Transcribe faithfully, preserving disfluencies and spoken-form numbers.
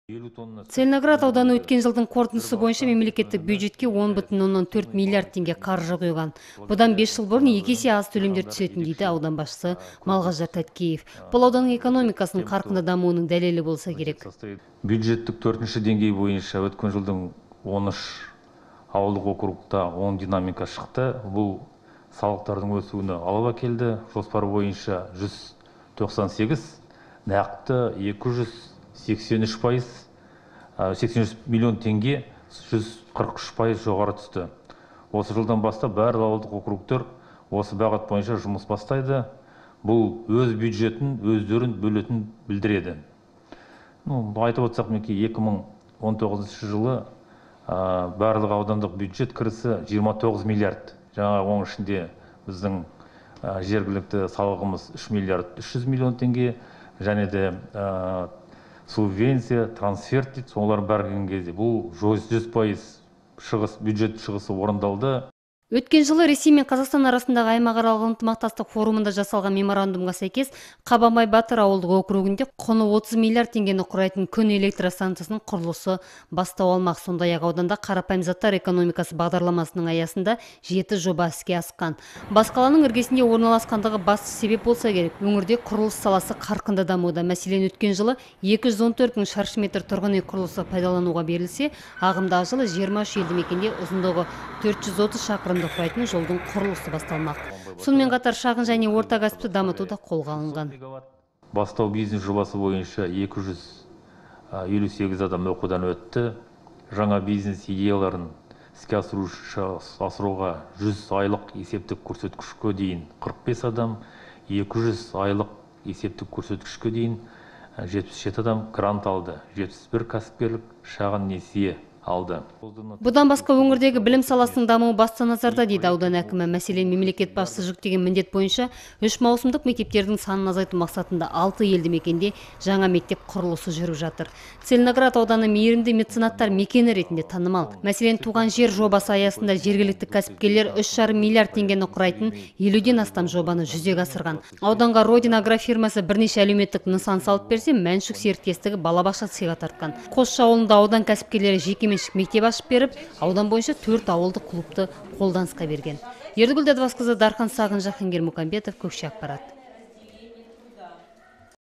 Целиноград ауданы өткен жылдың қорытындысы бойынша мемлекеттік бюджетке он бүтін оннан төрт миллиард теңге қаржы құйған. Бұдан бес жыл бұрын екі есе аз төлемдер түсетін дейді аудан басшысы Малғаждар Тәткеев. Бұл ауданның экономикасының қарқынды дамуының дәлелі болса керек. Бюджеттік төртінші деңгей бойынша өткен жылдың он үш ауылдық округта оң динамика шықты. Бұл салықтардың өсуіне алып әкелді. Жоспар бойынша жүз тоқсан сегіз, нақты екі жүз сексен үш пайыз, сексен үш миллион теңге, жүз қырық үш пайыз жоғары түсті. Осы жылдан бастап барлық ауылдық округтер осы бағыт бойынша жұмыс бастайды. Бұл өз бюджетін өздерін бөлетін білдіреді. Ну, айтып отырсақ, екі мың он тоғызыншы жылы барлық аудандық бюджет кірісі жиырма тоғыз миллиард. Жаңа оның ішінде біздің жергілікті салығымыз үш миллиард үш жүз миллион теңге, және де субвенция, трансферт дейді, солар бәрген кезде бұл жүз пайыз шығыс, бюджет шығысы орындалды. Өткен жылы Ресей мен Қазақстан арасындағы аймақаралық ынтымақтастық форумында жасалған меморандумға сәйкес Қабанбай Батыр ауылдық округінде құны отыз миллиард теңгені құрайтын күн электростанциясының құрылысы бастау алмақ. Сондай-ақ ауданда қарапайым заттар экономикасы бағдарламасының аясында жеті жоба іске асқан. Бас қаланың іргесінде орналасқандығы басты себеп болса керек. Өңірде құрылыс саласы қарқынды дамуда. Мәселен, өткен жылы екі жүз он төрт мың шаршы метр тұрғын үй құрылысы пайдалануға берілсе, ағымдағы жылы жиырма үш елді мекенде ұзындығы төрт жүз отыз шақырым құрайтын жолдың құрылысы басталмақ. Сонымен қатар шағын және орта кәсіпті дамытуда қолға алынған. Бастау бизнес жобасы бойынша екі жүз елу сегіз адам оқудан өтті. Жаңа бизнес идеяларын іске асыруға жүз айлық есептік көрсеткішке дейін қырық бес адам, екі жүз айлық есептік көрсеткішке дейін жетпіс жеті адам грант алды. жетпіс бір кәсіпкерлік шағын несие алды. Бұдан басқа өңірдегі білім саласының дамуы басты назарда дейді аудан әкімі. Мәселен, мемлекет басшысы жүктеген міндет бойынша үш маусымдық мектептердің санын азайту мақсатында алты елді мекенде жаңа мектеп құрылысы жүріп жатыр. Целиноград ауданы мейірімді меценаттар мекені ретінде танымал. Мәселен, туған жер жобасы аясында жергілікті кәсіпкерлер үш жарым миллиард теңгені құрайтын елуден астам жобаны жүзеге асырған. Ауданға Родина агрофирмасы бірнеше әлеуметтік нысан салып берсе, Мәншүк серіктестігі балабақша сыйға тартқан. Қосшы ауылында аудан кәсіпкерлері жеке мектеп ашып беріп, аудан бойынша төрт ауылдық клубты қолданысқа берген. Ердігүл Дәдібасқызы, Дархан Сағын, Жахангер Мұхамбетов, Көкше ақпарат.